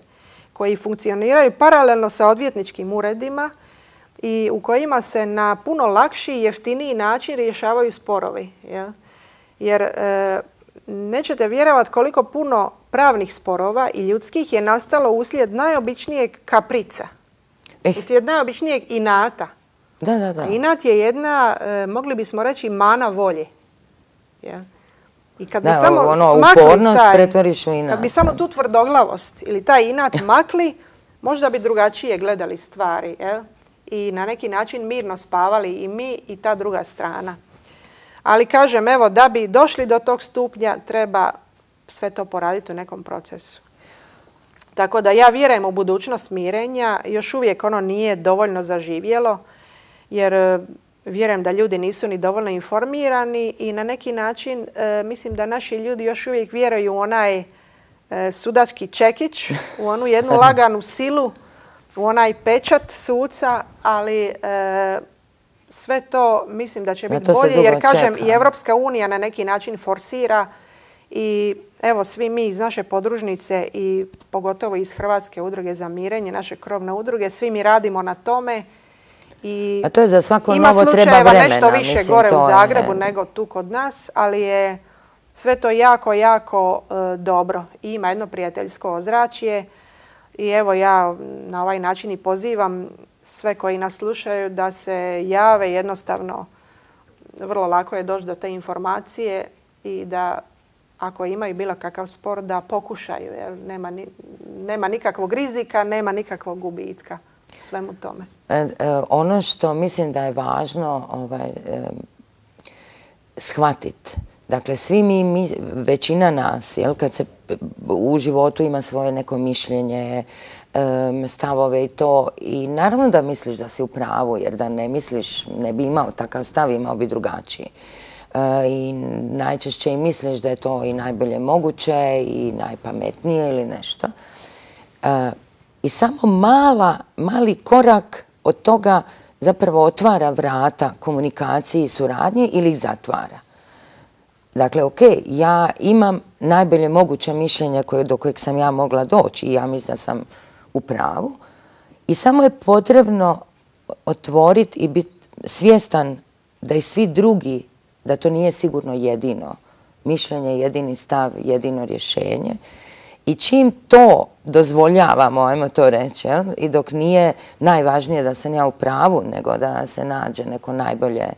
koji funkcioniraju paralelno sa odvjetničkim uredima i u kojima se na puno lakši i jeftiniji način rješavaju sporovi. Jel? Jer e, nećete vjerovati koliko puno pravnih sporova i ljudskih je nastalo uslijed najobičnijeg kaprica. Eh. Uslijed najobičnijeg inata. Da, da, da. A inat je jedna, e, mogli bismo reći, mana volje. Jel? I kad bi da, samo ono, makli upornost taj, pretvoriš u inat. Kad bi samo tu tvrdoglavost ili taj inat makli, možda bi drugačije gledali stvari. Jel? I na neki način mirno spavali i mi i ta druga strana. Ali kažem, evo, da bi došli do tog stupnja, treba sve to poraditi u nekom procesu. Tako da ja vjerujem u budućnost mirenja. Još uvijek ono nije dovoljno zaživjelo, jer vjerujem da ljudi nisu ni dovoljno informirani i na neki način e, mislim da naši ljudi još uvijek vjeruju u onaj e, sudački čekić, u onu jednu laganu silu, u onaj pečat suca, ali e, sve to mislim da će biti bolje, jer kažem čeka. I Evropska unija na neki način forsira i evo svi mi iz naše podružnice i pogotovo iz Hrvatske udruge za mirenje, naše krovne udruge, svi mi radimo na tome. I a to je za svako ima novo treba vremena. Nešto više mislim, gore u Zagrebu je... nego tu kod nas, ali je sve to jako, jako e, dobro. I ima jedno prijateljsko ozračje i evo ja na ovaj način i pozivam sve koji nas slušaju da se jave, jednostavno vrlo lako je doći do te informacije i da ako imaju bilo kakav spor da pokušaju, jer nema, ni, nema nikakvog rizika, nema nikakvog gubitka u svemu tome. E, e, ono što mislim da je važno ovaj, e, shvatiti, dakle svi mi, mi većina nas, jel, kad se u životu ima svoje neko mišljenje, stavove i to. I naravno da misliš da si u pravu, jer da ne misliš, ne bi imao takav stav, imao bi drugačiji. I najčešće i misliš da je to i najbolje moguće i najpametnije ili nešto. I samo mala, mali korak od toga zapravo otvara vrata komunikaciji i suradnji ili ih zatvara. Dakle, ok, ja imam najbolje moguće mišljenje koje, do kojeg sam ja mogla doći i ja mislim da sam u pravu. I samo je potrebno otvoriti i biti svjestan da i svi drugi, da to nije sigurno jedino mišljenje, jedini stav, jedino rješenje. I čim to dozvoljavamo, ajmo to reći, jel? I dok nije najvažnije da sam ja u pravu, nego da se nađe neko najbolje e,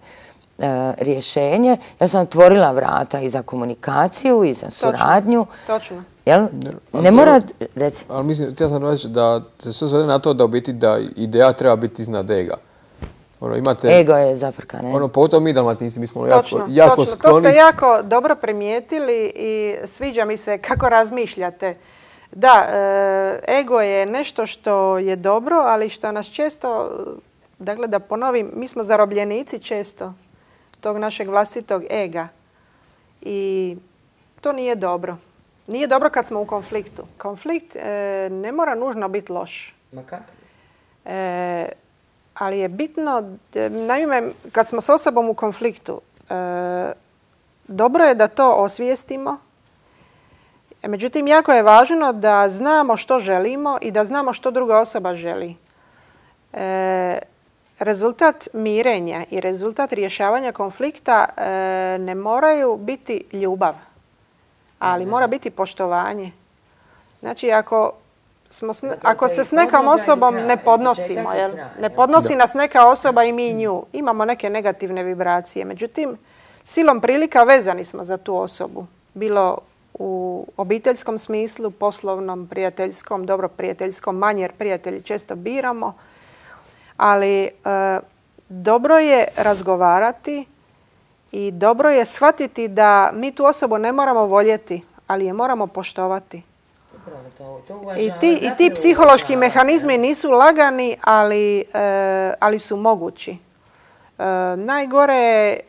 rješenje, ja sam otvorila vrata i za komunikaciju i za suradnju. Točno. Jel? Ne mora, reci. Ali mislim, htio sam reći da se sve svede na to da u biti da ideja treba biti iznad ega. Ono, imate, ego je zafrkan. Ono, pogotovo mi Dalmatinci, mi smo točno, jako, jako točno. skloni. To ste jako dobro primijetili i sviđa mi se kako razmišljate. Da, e, ego je nešto što je dobro, ali što nas često, dakle da ponovim, mi smo zarobljenici često tog našeg vlastitog ega. I to nije dobro. Nije dobro kad smo u konfliktu. Konflikt e, ne mora nužno biti loš. Ma kako? E, ali je bitno, naime, kad smo s osobom u konfliktu, e, dobro je da to osvijestimo. Međutim, jako je važno da znamo što želimo i da znamo što druga osoba želi. E, rezultat mirenja i rezultat rješavanja konflikta e, ne moraju biti ljubav, ali mora biti poštovanje. Znači, ako, smo s, ako se s nekom osobom ne podnosimo, jel? Ne podnosi nas neka osoba i mi nju, imamo neke negativne vibracije. Međutim, silom prilika vezani smo za tu osobu. Bilo u obiteljskom smislu, poslovnom, prijateljskom, dobro prijateljskom, manje jer prijatelji često biramo. Ali e, dobro je razgovarati i dobro je shvatiti da mi tu osobu ne moramo voljeti, ali je moramo poštovati. To, to I, ti, I ti psihološki mehanizmi nisu lagani, ali, e, ali su mogući. E, najgore je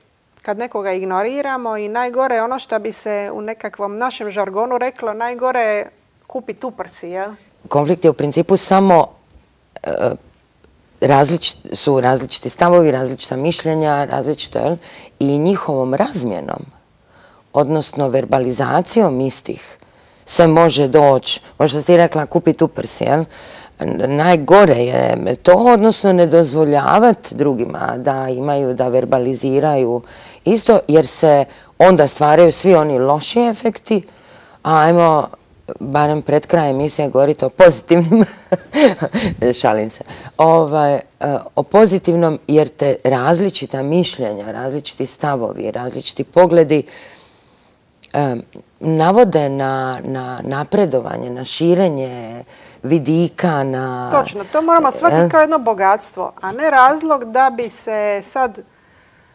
kad nekoga ignoriramo i najgore je ono što bi se u nekakvom našem žargonu reklo, najgore je kupiti uprsi, jel? Konflikt je u principu samo e, različit, su različiti stavovi, različita mišljenja, različito, jel? I njihovom razmjenom, odnosno verbalizacijom istih, se može doći, možda si ti rekla kupiti uprsi, jel? Najgore je to, odnosno ne dozvoljavati drugima da imaju, da verbaliziraju isto, jer se onda stvaraju svi oni loši efekti, a ajmo barem pred krajem emisije govoriti o pozitivnim, šalim se, ovaj, o pozitivnom, jer te različita mišljenja, različiti stavovi, različiti pogledi um, navode na, na napredovanje, na širenje vidika, na... Točno, to moramo shvatiti kao jedno bogatstvo, a ne razlog da bi se sad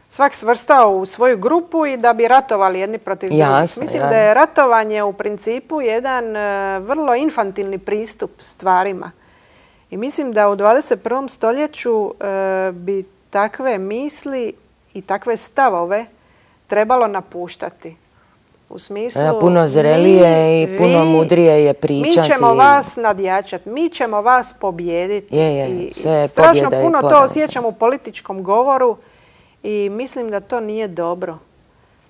svak svrstao u svoju grupu i da bi ratovali jedni protiv drugih. Mislim da je ratovanje u principu jedan uh, vrlo infantilni pristup stvarima. I mislim da u dvadeset prvom stoljeću uh, bi takve misli i takve stavove trebalo napuštati. U smislu... Da, puno zrelije i puno vi, mudrije je pričati. Mi ćemo vas nadjačati, mi ćemo vas pobijediti. Je, je, sve je I strašno pobjeda puno i to osjećam u političkom govoru i mislim da to nije dobro.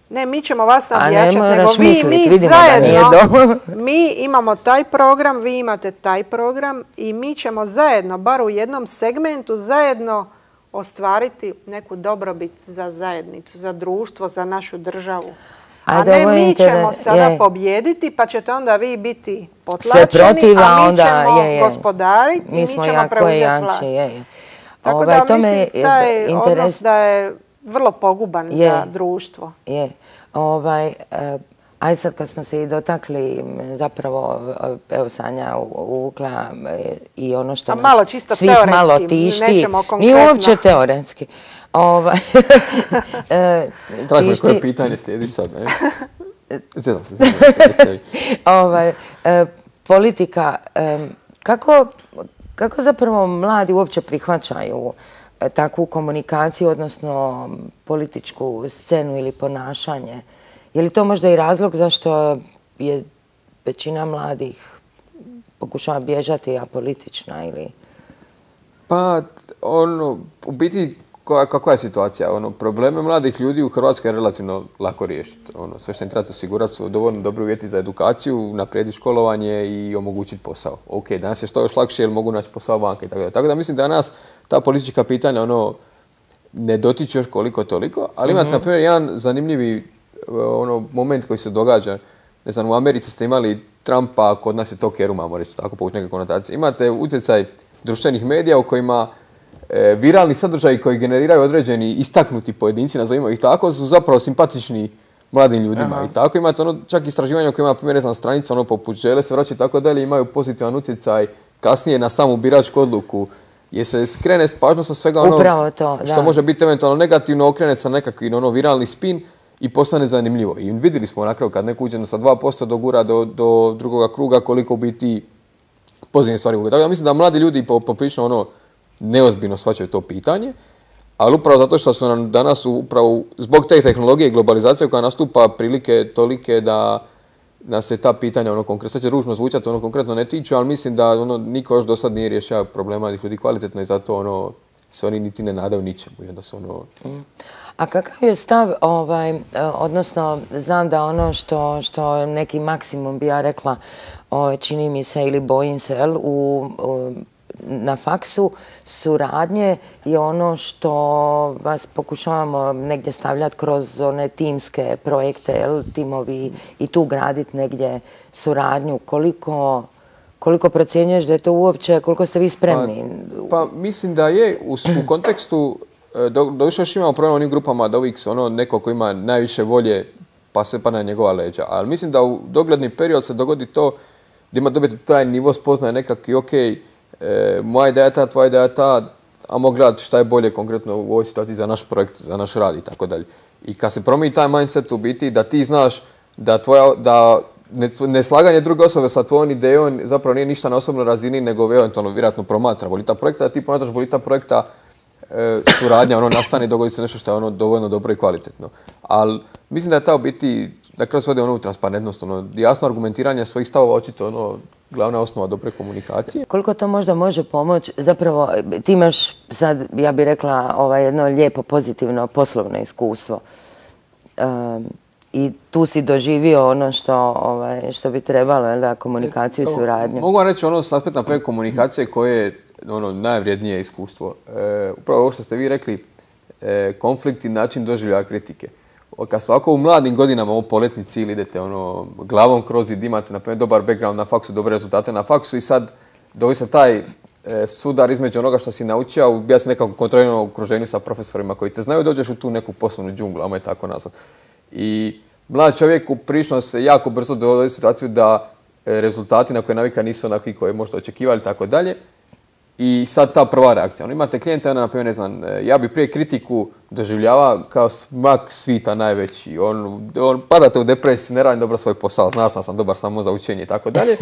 Ne, mi ćemo vas nadjačati, nego vi, mislit, mi zajedno, mi imamo taj program, vi imate taj program i mi ćemo zajedno, bar u jednom segmentu, zajedno ostvariti neku dobrobit za zajednicu, za društvo, za našu državu. A ne, mi ćemo sada pobijediti, pa ćete onda vi biti potlačeni, a mi ćemo gospodariti i mi ćemo preuzeti vlast. Tako da mislim taj odnos da je vrlo poguban za društvo. Je. Ajde sad kad smo se i dotakli, zapravo, evo Sanja uvukla i ono što nas svih malo tišti. Nije uopće teoretski. Strah me koje pitanje slijedi sad, ne? Zezam se, politika, kako zapravo mladi uopće prihvaćaju takvu komunikaciju, odnosno političku scenu ili ponašanje? Je li to možda i razlog zašto je većina mladih pokušava bježati apolitična ili... Pa, ono, u biti, kakva je situacija? Ono, probleme mladih ljudi u Hrvatskoj je relativno lako riješiti. Ono, sve što im treba osigurati su dovoljno dobri uvjeti za edukaciju, naprijediti školovanje i omogućiti posao. Ok, danas je što još lakše jer mogu naći posao vanka i tako da. Tako da mislim da nas ta politička pitanja ono, ne dotiče još koliko toliko, ali imate, mm-hmm. na primjer, jedan zanimljivi ono, moment koji se događa. Ne znam, u Americi ste imali Trumpa, kod nas je to Keru, imamo reći tako, povući neke konotacije. Imate utjecaj društvenih medija u kojima e, viralni sadržaji koji generiraju određeni istaknuti pojedinci, nazovimo ih tako, su zapravo simpatični mladim ljudima. Aha. I tako imate ono, čak istraživanja u kojima, na primjer, ne znam, stranica ono, poput Žele se vraća i tako dalje, imaju pozitivan utjecaj kasnije na samu biračku odluku. Jer se skrene s pažnjom sa svega ono to, što da. može biti eventualno negativno, okrene sa nekakvi ono, viralni spin i postane zanimljivo. I vidjeli smo na kraju kad neko uđe sa dva posto dogura do, do drugoga kruga koliko biti pozitivne stvari. Tako da mislim da mladi ljudi poprilično ono neozbiljno shvaćaju to pitanje, ali upravo zato što su nam danas upravo zbog te tehnologije i globalizacije koja nastupa prilike tolike da nas se ta pitanja ono konkretno, sad će ružno zvučati, ono konkretno ne tiču, ali mislim da ono niko još do sad nije rješava problema mladih ljudi kvalitetno i zato ono se oni niti ne nadaju ničemu i onda su ono... Mm. A kakav je stav, ovaj, odnosno znam da ono što, što neki maksimum bi ja rekla, o, čini mi se ili bojim se, jel, u, u, na faksu suradnje je ono što vas pokušavamo negdje stavljati kroz one timske projekte, jel, timovi i tu graditi negdje suradnju. Koliko... Koliko procjenjuješ da je to uopće, koliko ste vi spremni? Pa, pa mislim da je u, u kontekstu, do, do više još imamo problem u onim grupama da uvijek ono neko ko ima najviše volje pa se pa na njegova leđa. Ali mislim da u dogledni period se dogodi to da ima dobiti taj nivo spoznaje nekakvi, ok, e, moja ideja je ta, tvoja ideja je ta, a mogu gledati šta je bolje konkretno u ovoj situaciji za naš projekt, za naš rad i tako dalje. I kad se promijeni taj mindset u biti da ti znaš da tvoja, da neslaganje druge osobe sa tvojom idejom zapravo nije ništa na osobnoj razini, nego eventualno vjerojatno promatra bolita projekta, da ti promatraš bolita projekta e, suradnja ono nastane i dogodi se nešto što je ono dovoljno dobro i kvalitetno. Ali mislim da je ta u biti, da kroz svode ono u transparentnost, ono jasno argumentiranje svojih stavova očito ono glavna osnova dobre komunikacije. Koliko to možda može pomoći? Zapravo ti imaš sad, ja bih rekla, ovaj, jedno lijepo, pozitivno poslovno iskustvo. Um, I tu si doživio ono što, ovaj, što bi trebalo, jel da, komunikaciju i suradnju. Mogu vam reći ono s aspekta napravljene komunikacije koje je ono najvrijednije iskustvo. E, upravo ovo što ste vi rekli, e, konflikt i način doživljaja kritike. Kad se ovako u mladim godinama ovo poletni cilj idete ono, glavom kroz zid, imate naprimjer dobar background na faksu, dobre rezultate na faksu i sad dovi se taj e, sudar između onoga što si naučio, ja sam nekako kontrolirano u okruženju sa profesorima koji te znaju, dođeš u tu neku poslovnu džunglu, ajmo je tako nazvat. I mlad čovjek prilično se jako brzo dovodi u situaciju da e, rezultati na koje navika nisu onakvi koje možete očekivali i tako dalje. I sad ta prva reakcija. Ono, imate klijente, ono, naprimjer, ne znam, ja bi prije kritiku doživljava kao smak svita najveći. On, on, padate u depresiju, ne radim dobro svoj posao, zna sam sam dobar samo za učenje i tako dalje.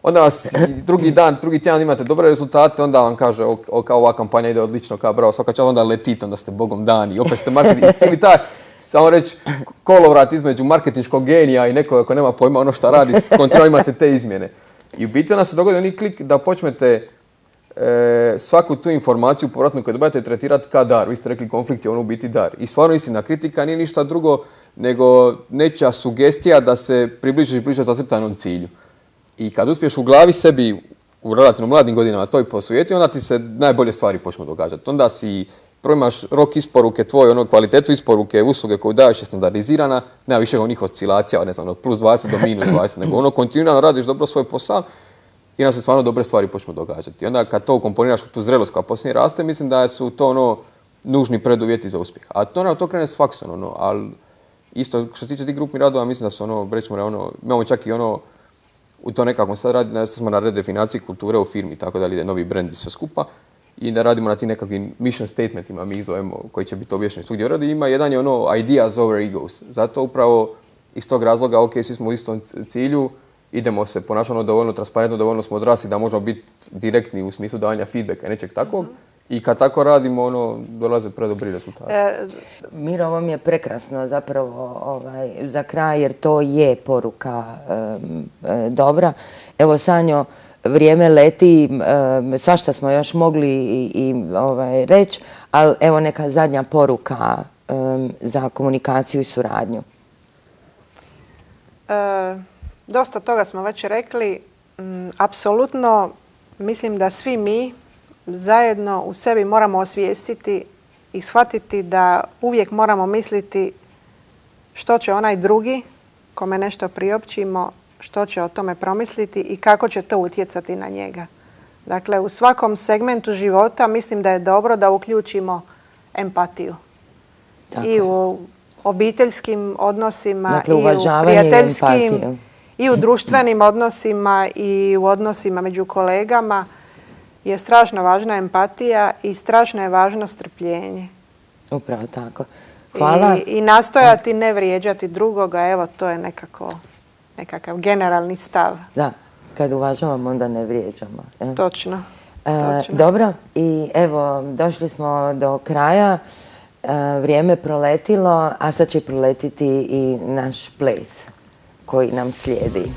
Onda vas drugi dan, drugi tjedan imate dobre rezultate, onda vam kaže o, o, kao ova kampanja ide odlično, kao bravo, svaka čast, onda letite, onda ste bogom dani i opet ste marketing. Cijeli taj, samo reći, kolovrat između marketinškog genija i nekoga ko nema pojma ono što radi, kontrolno imate te izmjene. I u biti onda se dogodi oni klik da počnete E, svaku tu informaciju povratnu koju dobijete tretirati kao dar. Vi ste rekli konflikt je ono u biti dar. I stvarno istina, kritika nije ništa drugo nego nečija sugestija da se približiš bliže zacrtanom cilju. I kad uspiješ u glavi sebi u relativno mladim godinama to i posujeti, onda ti se najbolje stvari počnu događati. Onda si prvo imaš rok isporuke tvoje, ono kvalitetu isporuke, usluge koju daješ je standardizirana, nema više onih oscilacija, ne znam, od plus dvadeset do minus dvadeset, nego ono kontinuirano radiš dobro svoj posao. I onda se stvarno dobre stvari počnu događati. I onda kad to ukomponiraš u tu zrelost koja poslije raste, mislim da su to ono nužni preduvjeti za uspjeh. A to, ono, to krene s faksom, ono, ali isto što se tiče tih grupnih radova, mislim da su ono, rećemo, ono, imamo čak i ono, u to nekako sad radimo, smo na redefinaciji kulture u firmi, tako da ide novi brand i sve skupa. I da radimo na tim nekakvim mission statementima, mi ih zovemo, koji će biti objašnjeni svugdje u radu. Ima jedan je ono ideas over egos. Zato upravo iz tog razloga, ok, svi smo u istom cilju, idemo se ponašati dovoljno transparentno, dovoljno smo odrasli da možemo biti direktni u smislu davanja feedbacka i nečeg takvog. Mm-hmm. I kad tako radimo, ono, dolaze predobri rezultati. E, Miro, ovo mi je prekrasno zapravo ovaj, za kraj, jer to je poruka e, e, dobra. Evo, Sanjo, vrijeme leti, e, svašta smo još mogli i, i ovaj, reći, ali evo neka zadnja poruka e, za komunikaciju i suradnju. E... Dosta toga smo već rekli. Mm, apsolutno mislim da svi mi zajedno u sebi moramo osvijestiti i shvatiti da uvijek moramo misliti što će onaj drugi, kome nešto priopćimo, što će o tome promisliti i kako će to utjecati na njega. Dakle, u svakom segmentu života mislim da je dobro da uključimo empatiju. Tako. I u obiteljskim odnosima, dakle, i u prijateljskim, i u društvenim odnosima i u odnosima među kolegama je strašno važna empatija i strašno je važno strpljenje. Upravo tako. Hvala. I, i nastojati ne vrijeđati drugoga, evo to je nekako, nekakav generalni stav. Da, kad uvažavamo onda ne vrijeđamo. Jel? Točno. E, točno. Dobro, i evo došli smo do kraja. E, vrijeme proletilo, a sad će proletiti i naš ples koji nam slijedi.